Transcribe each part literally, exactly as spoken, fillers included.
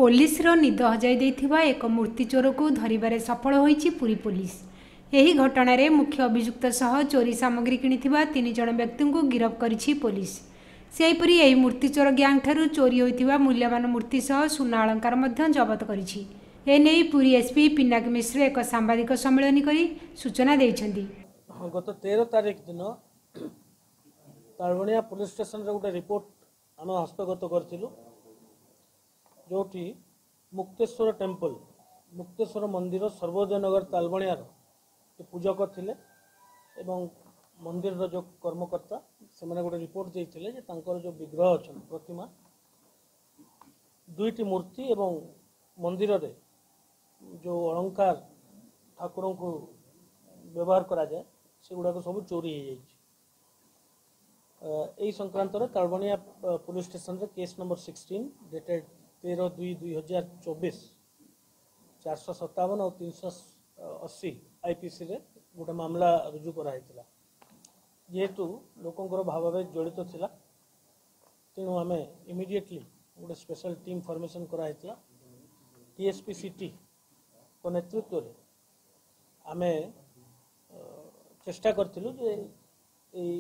ପୋଲିସର ନିଦ ହଜାଇ ଦେଇଥିବା ଏକ ମୂର୍ତ୍ତି ଚୋରକୁ ଧରିବାରେ ସଫଳ ହୋଇଛି ପୁରୀ ପୋଲିସ। ଏହି ଘଟଣାରେ ମୁଖ୍ୟ ଅଭିଯୁକ୍ତ ସହ ଚୋରି ସାମଗ୍ରୀ କିଣିଥିବା ତିନି ଜଣ ବ୍ୟକ୍ତିଙ୍କୁ ଗିରଫ କରିଛି ପୋଲିସ। ସେହିପରି ଏହି ମୂର୍ତ୍ତି ଚୋର ଗ୍ୟାଙ୍ଗଠାରୁ ଚୋରି ହୋଇଥିବା ମୂଲ୍ୟବାନ ମୂର୍ତ୍ତି ସହ ସୁନା ଅଳଙ୍କାର ମଧ୍ୟ ଜବତ କରିଛି। ଏନେଇ ପୁରୀ ଏସ୍ପି ପିନାକ ମିଶ୍ର ଏକ ସାମ୍ବାଦିକ ସମ୍ମିଳନୀ କରି ସୂଚନା ଦେଇଛନ୍ତି। ହଁ, ଗତ ତେର ତାରିଖ ଦିନ ତାଳବଣିଆ ପୋଲିସ ଷ୍ଟେସନରେ ଗୋଟେ ରିପୋର୍ଟ ଆମେ ହସ୍ତଗତ କରିଥିଲୁ, ଯେଉଁଠି ମୁକ୍ତେଶ୍ୱର ଟେମ୍ପଲ, ମୁକ୍ତେଶ୍ୱର ମନ୍ଦିର, ସର୍ବୋଦୟନଗର ତାଳବଣିଆର ପୂଜକ ଥିଲେ ଏବଂ ମନ୍ଦିରର ଯେଉଁ କର୍ମକର୍ତ୍ତା, ସେମାନେ ଗୋଟେ ରିପୋର୍ଟ ଦେଇଥିଲେ ଯେ ତାଙ୍କର ଯେଉଁ ବିଗ୍ରହ ଅଛନ୍ତି, ପ୍ରତିମା, ଦୁଇଟି ମୂର୍ତ୍ତି ଏବଂ ମନ୍ଦିରରେ ଯେଉଁ ଅଳଙ୍କାର ଠାକୁରଙ୍କୁ ବ୍ୟବହାର କରାଯାଏ, ସେଗୁଡ଼ାକ ସବୁ ଚୋରି ହେଇଯାଇଛି। ଏଇ ସଂକ୍ରାନ୍ତରେ ତାଳବଣିଆ ପୋଲିସ ଷ୍ଟେସନରେ କେସ୍ ନମ୍ବର ସିକ୍ସଟିନ୍ ଡେଟେଡ୍ ତେର ଦୁଇ ଦୁଇ ହଜାର ଚବିଶ, ଚାରିଶହ ସତାବନ ଆଉ ତିନିଶହ ଅଶୀ ଆଇପିସିରେ ଗୋଟେ ମାମଲା ରୁଜୁ କରାହେଇଥିଲା। ଯେହେତୁ ଲୋକଙ୍କର ଭାବାବେଗ ଜଡ଼ିତ ଥିଲା, ତେଣୁ ଆମେ ଇମିଡ଼ିଏଟଲି ଗୋଟେ ସ୍ପେଶାଲ ଟିମ୍ ଫର୍ମେସନ୍ କରାହେଇଥିଲା। ଡିଏସ୍ପି ସିଟିଙ୍କ ନେତୃତ୍ୱରେ ଆମେ ଚେଷ୍ଟା କରିଥିଲୁ ଯେ ଏଇ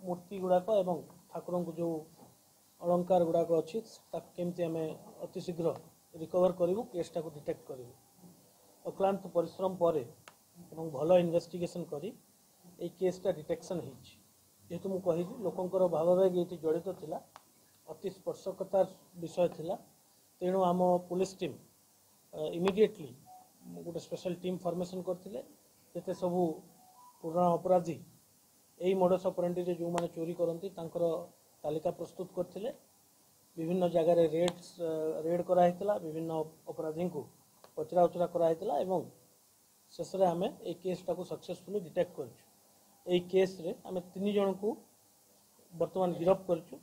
ମୂର୍ତ୍ତି ଗୁଡ଼ାକ ଏବଂ ଠାକୁରଙ୍କୁ ଯେଉଁ ଅଳଙ୍କାର ଗୁଡ଼ାକ ଅଛି, ତାକୁ କେମିତି ଆମେ ଅତି ଶୀଘ୍ର ରିକଭର କରିବୁ, କେସ୍ଟାକୁ ଡିଟେକ୍ଟ କରିବୁ। ଅକ୍ଳାନ୍ତ ପରିଶ୍ରମ ପରେ ଏବଂ ଭଲ ଇନଭେଷ୍ଟିଗେସନ୍ କରି ଏଇ କେସ୍ଟା ଡିଟେକ୍ସନ୍ ହେଇଛି। ଯେହେତୁ ମୁଁ କହିଲି, ଲୋକଙ୍କର ଭାବାବେଗ ଏଇଠି ଜଡ଼ିତ ଥିଲା, ଅତି ସ୍ପର୍ଶକାତର ବିଷୟ ଥିଲା, ତେଣୁ ଆମ ପୋଲିସ ଟିମ୍ ଇମିଡ଼ିଏଟଲି ଗୋଟେ ସ୍ପେଶାଲ ଟିମ୍ ଫର୍ମେସନ୍ କରିଥିଲେ। ଯେତେ ସବୁ ପୁରୁଣା ଅପରାଧୀ ଏଇ ମୋଡସ୍ ଅପରେଣ୍ଡିରେ ଯେଉଁମାନେ ଚୋରି କରନ୍ତି, ତାଙ୍କର ତାଲିକା ପ୍ରସ୍ତୁତ କରିଥିଲେ। ବିଭିନ୍ନ ଜାଗାରେ ରେଡ୍ସ ରେଡ୍ କରାହେଇଥିଲା, ବିଭିନ୍ନ ଅପରାଧୀଙ୍କୁ ପଚରା ଉଚରା କରାହେଇଥିଲା ଏବଂ ଶେଷରେ ଆମେ ଏଇ କେସ୍ଟାକୁ ସକ୍ସେସଫୁଲି ଡିଟେକ୍ଟ କରିଛୁ। ଏଇ କେସ୍ରେ ଆମେ ତିନି ଜଣଙ୍କୁ ବର୍ତ୍ତମାନ ଗିରଫ କରିଛୁ,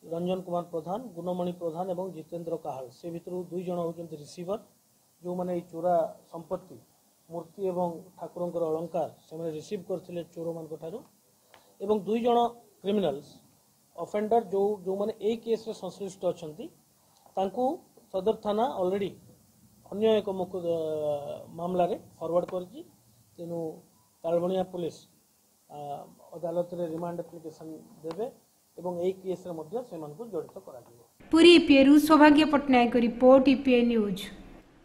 ରଞ୍ଜନ କୁମାର ପ୍ରଧାନ, ଗୁଣମଣି ପ୍ରଧାନ ଏବଂ ଜିତେନ୍ଦ୍ର କାହାଳ। ସେ ଭିତରୁ ଦୁଇ ଜଣ ହେଉଛନ୍ତି ରିସିଭର, ଯେଉଁମାନେ ଏଇ ଚୋରା ସମ୍ପତ୍ତି, ମୂର୍ତ୍ତି ଏବଂ ଠାକୁରଙ୍କର ଅଳଙ୍କାର ସେମାନେ ରିସିଭ୍ କରିଥିଲେ ଚୋରମାନଙ୍କ ଠାରୁ, ଏବଂ ଦୁଇ ଜଣ କ୍ରିମିନାଲ୍ସ ଅଫେଣ୍ଡର, ଯେଉଁ ଯେଉଁମାନେ ଏଇ କେସ୍ରେ ସଂଶ୍ଳିଷ୍ଟ ଅଛନ୍ତି, ତାଙ୍କୁ ସଦର ଥାନା ଅଲରେଡ଼ି ଅନ୍ୟ ଏକ ମାମଲାରେ ଫରୱାର୍ଡ଼ କରିଛି। ତେଣୁ ତାଳବଣିଆ ପୋଲିସ ଅଦାଲତରେ ରିମାଣ୍ଡ ଆପ୍ଲିକେସନ୍ ଦେବେ ଏବଂ ଏଇ କେସ୍ରେ ମଧ୍ୟ ସେମାନଙ୍କୁ ଜଡ଼ିତ କରାଯିବ। ପୁରୀ ଇପିଏରୁ ସୌଭାଗ୍ୟ ପଟ୍ଟନାୟକ ରିପୋର୍ଟ, ଇପିଏ ନ୍ୟୁଜ୍।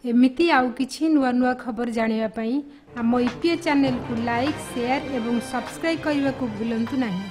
ଏମିତି ଆଉ କିଛି ନୂଆ ନୂଆ ଖବର ଜାଣିବା ପାଇଁ ଆମ ଇପିଏ ଚ୍ୟାନେଲକୁ ଲାଇକ୍, ସେୟାର ଏବଂ ସବସ୍କ୍ରାଇବ୍ କରିବାକୁ ଭୁଲନ୍ତୁ ନାହିଁ।